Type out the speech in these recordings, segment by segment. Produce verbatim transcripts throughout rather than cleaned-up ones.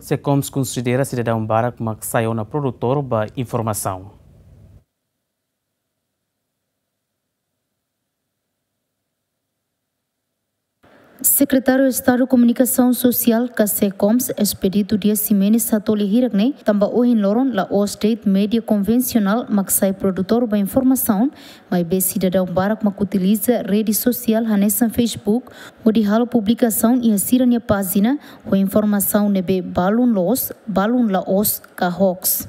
SECOMS konsidera sidadaun barak mak sai ona produtór ba informasaun. Sekretáriu Estadu Komunikasaun Sosiál ka SECOMS, Expedito Dias Ximenes, hato'o lia hirak ne'e, tanba ohin loron la'ós de'it média konvensionál mak sai produtór ba informasaun, maibé sidadaun barak mak utiliza rede sosiál hanesan Facebook, hodi halo publikasaun iha sira-nia pájina, ho informasaun ne'ebé balun loos, balun la'ós ka hoax.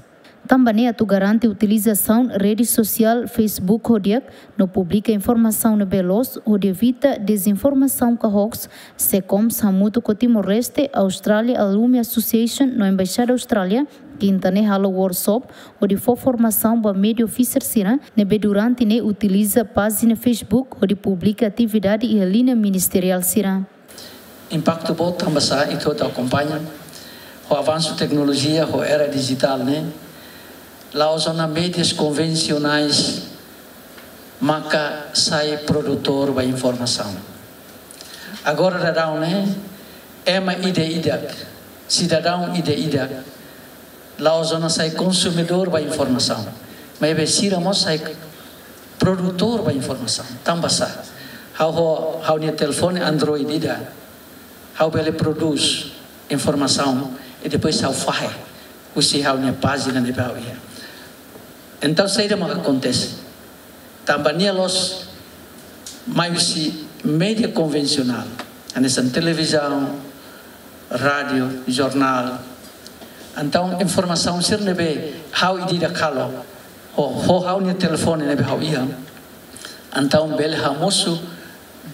Tanba ne'e atu garante utilizasaun rede sosiál Facebook ho di'ak, no publika informasaun ne'ebé loos, hodi evita dezinformasaun ka hoax, SECOMS hamutuk ho Timor-Leste, Australia Alumni Association no Embaixada Austrália, kinta ne'e halo workshop, hodi fó formasaun ba média officer sira, ne'ebé durante ne'e utiliza pájina Facebook, hodi publika atividade iha liña ministeriál sira. Impaktu boot tanba sá, ita hotu akompaña ho avansu teknolojia, ho era dijitál ne'e, la'ós ona médias konvensionais maka sai produtór ba informasaun. Agora daudaun ne'e, ema ida-idak, sidadaun ida-idak, la'ós ona sai konsumidór ba informasaun, maibé sira mós sai produtór ba informasaun. Tanba sá, ha'u ho ha'u-nia telefone Android ida, ha'u bele prodús informasaun i depois ha'u fahe husi ha'u-nia pájina ne'ebé ha'u iha. Entaun, saida mak akontese? Tanba nia loos mai husi média konvensionál, hanesan televizaun, rádiu, jornál. Entaun, informasaun sira ne'ebé ha'u ida-idak halo, ho, ho ha'u-nia telefone ne'ebé ha'u iha, entaun bele hamosu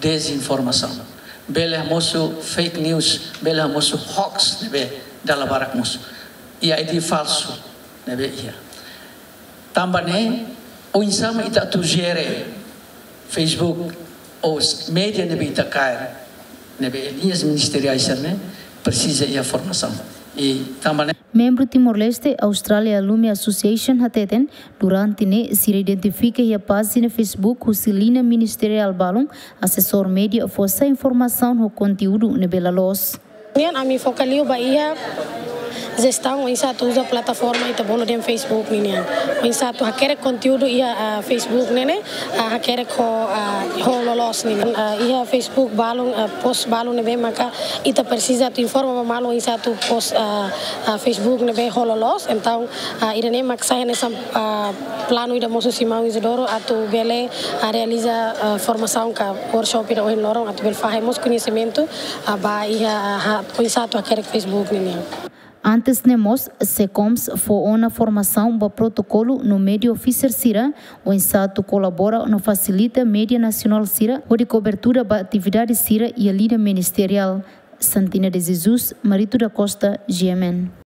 dezinformasaun, bele hamosu fake news, bele hamosu hoax ne'ebé dala barak mosu, i ID falsu ne'ebé iha. Tanba ne'e, oinsá mak ita atu jere Facebook ou s-, média ne'ebé ita kaer, ne'ebé liñas ministeriais sira-ne'e, presiza iha formasaun. I tanba ne'e, membru Timor-Leste Australia Alumni Association hateten, durante ne'e sira identifika iha pájina Facebook husi liña ministeriál balun, asesór média fó sai informasaun ho konteúdu ne'ebé la loos. Nian ami foka liu ba iha jestaun oinsá atu uza plataforma ita bolu dehan Facebook ninian. Oinsá atu hakerek konteúdu iha, ah, Facebook ne'e ne'e, ah, hakerek ho, ah, ho loloos ninian. Ah, iha Facebook balun, ah, post balun ne'ebé maka ita presiza atu informa ba malu oinsá atu post, ah, ah, Facebook ne'ebé ho loloos. Entaun, ah, ida-ne'e mak sai hanesan, ah, planu ida mosu husi maun Isidoro atu bele, ah, realiza, ah, formasaun ka workshop ida ohin loron atu bele fahe mós koñesimentu, ah, ba iha, ah, ha-, oinsá atu hakerek Facebook ninian. Antes ne'e mós, SECOMS fó ona formasaun ba protokolu no média officer sira, oinsá atu kolabora no fasilita média nasionál sira, hodi kobertura ba atividade sira iha liña ministeriál. Santina de Jesus, Marito da Costa, G M N.